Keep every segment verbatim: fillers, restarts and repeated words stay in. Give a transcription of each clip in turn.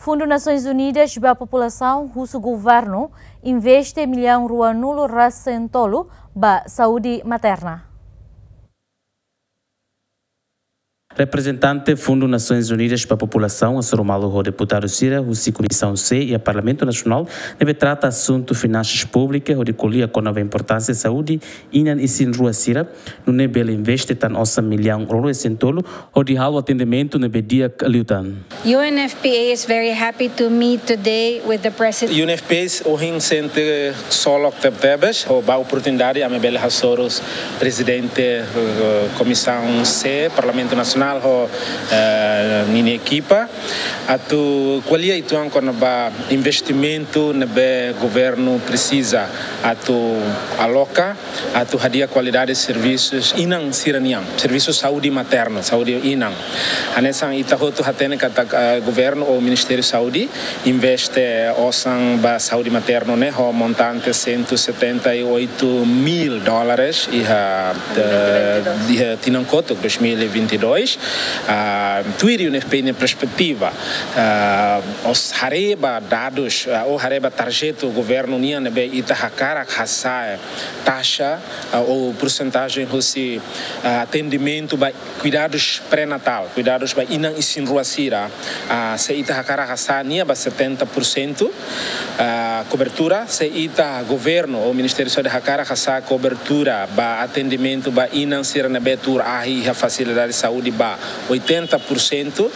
Fundu Nasoins Unidas ba Populasaun husu governu investe millaun ruanulu-resin-tolu ba saúde materna. Reprezentante Fundu Nasoins Unidas ba Populasaun hasoru malu ho deputadu sira husi Komisaun C iha Parlamentu Nasionál ne'ebé trata asuntu finansas públikas hodi ko'alia kona-ba importánsia saúde inan isin-rua sira, nune'e bele investe tan osan millaun ruanulu-resin-tolu hodi halo atendimentu ne'ebé di'ak liután. U N F P A is very happy to meet today with the president. U N F P A ohin sente ksolok tebetebes, ho ba oportunidade ami bele hasoru prezidente, eh, Komisaun C, Parlamentu Nasionál ho, eh, ninia ekipa. Atu ko'alia uitoan kona-ba investimentu ne'ebé governu presiza atu aloka atu hadi'a kualidade servisus inan sira-nian, servisu saúde materna, saúde inan. Hanesan ita hotu hatene katak, eh, governu ou Ministériu Saúde investe osan ba saúde materna ne'e ho montante cento e setenta e oito mil dólares iha, eh, iha tinan kotuk dois mil e vinte e dois. Ah, tuir U N F P A nia perspetiva, ah, haree ba dadus, ah, ou haree ba tarjetu governu nian ne'ebé ita hakarak hasa'e taxa, ah, ou persentajen husi, ah, atendimentu ba kuidadus pré-natál, kuidadus ba inan isin-rua sira, ah, se ita hakarak hasa'e nia ba setenta por cento, ah, kobertura, se ita governu ou Ministériu Saúde hakarak hasa'e kobertura ba atendimentu ba inan sira ne'ebé tuur ahi iha fasilidade saúde ba oitenta por cento,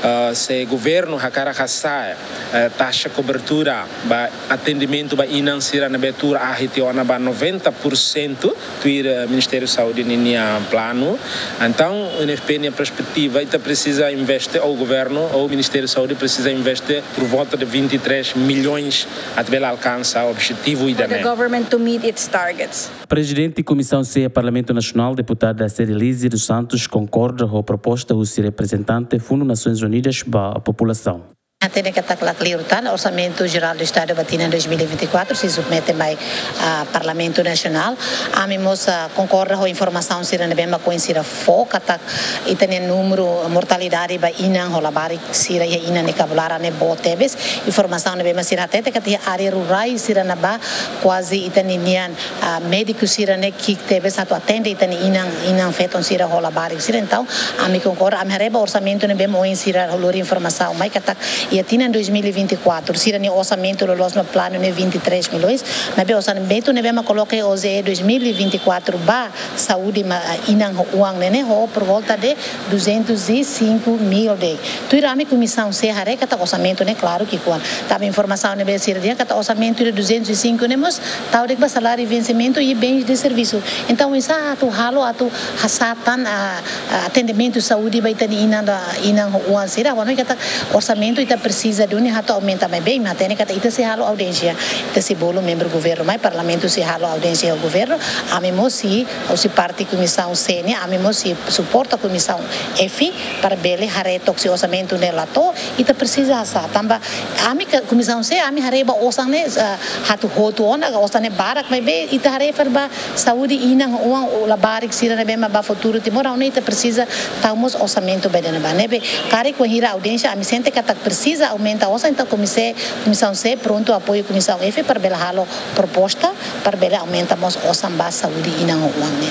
ah, se governu hakarak hasa'e, eh, taxa kobertura ba atendimentu ba inan sira ne'ebé tuur ahi tiha ona ba noventa por cento, tuir, eh, Ministériu Saúde ninia planu. Entaun, U N F P A nia perspetiva, ita presiza investe, ou governu, ou Ministériu Saúde presiza investe por volta de vinte e três milhões atu bele alkansa objetivu ida-ne'e. For the government to meet its targets. Prezidente Komisaun C Parlamentu Nasionál, deputada Cedelise dos Santos, konkorda ho proposta husi reprezentante Fundu Nasoins Unidas ba Populasaun. Hatene katak la kleur tan, Orsamentu Jerál do Estadu ba tinan dois mil e vinte e quatro sei submete mai, ah, Parlamentu Nasionál. Ami mós, ah, konkorda ho informasaun sira ne'ebé mak oin sira fó, katak ita-nia númeru mortalidade ba inan ho labarik sira iha inan ne'e kabularan ne'e boot tebes. Informasaun ne'ebé mak sira hatete katak iha área rurais sira ne'ebá kuaze ita-nia nian, ah, médiku sira ne'e ki'ik tebes atu atende ita-nia inan, inan-feton sira ho labarik sira. Entaun, ami konkorda, ami haree ba orsamentu ne'ebé mak oin sira lori informasaun mai katak iha tinan dois mil e vinte e quatro, sira-nia orsamentu loloos mak planu ne'e vinte e três milhões, maibé orsamentu ne'ebé mak koloka iha O J E dois mil e vinte e quatro ba saúde ma-, inan ho oan ne'e, ne'e ho por volta de duzentos e cinco mil de'it. Tuir ami Komisaun C haree katak orsamentu ne'e klaru ki'ikoan. Tanba informasaun ne'ebé sira dehan katak orsamentu de duzentos e cinco ne'e mós tau de'it ba saláriu vensimentu i bens de servisu. Entaun, oinsá atu halo atu hasa'e tan, ah, ah, atendimentu saúde ba ita-nia inan, inan ho oan sira, ha'u hanoin katak orsamentu ita presiza duni atu aumenta, maibé imi hatene katak ita sei halo audiénsia, ita sei bolu membru governu mai, Parlamentu sei halo audiénsia ho governu, ami mós sei, husi parte Komisaun C nian, ami mós sei suporta Komisaun F para bele haree took se orsamentu ne'e la to'o, ita presiza hasa'e. Tanba ami ka-, Komisaun C, ami haree ba osan ne'e, ah, atu hotu ona, osan ne'e barak, maibé ita haree fali ba saúde inan ho oan, labarik sira ne'ebé mak ba futuru Timor, ha'u hanoin ita presiza tau mós orsamentu ba ida-ne'ebá. Ne'ebé, karik wainhira audiénsia, ami sente katak presiza aumenta osan, entaun Komisaun C, Komisaun C prontu apoiu Komisaun F para bele halo proposta para bele aumenta mós osan ba saúde inan ho oan ne'e.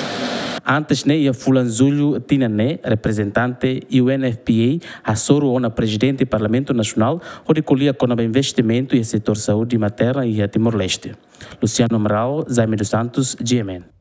Antes ne'e, iha fulan Jullu tinan ne'e, reprezentante U N F P A hasoru ona Prezidente Parlamentu Nasionál hodi ko'alia kona-ba investimentu iha setór saúde materna iha Timor-Leste. Luciano Amaral, Jaime dos Santos, G M N.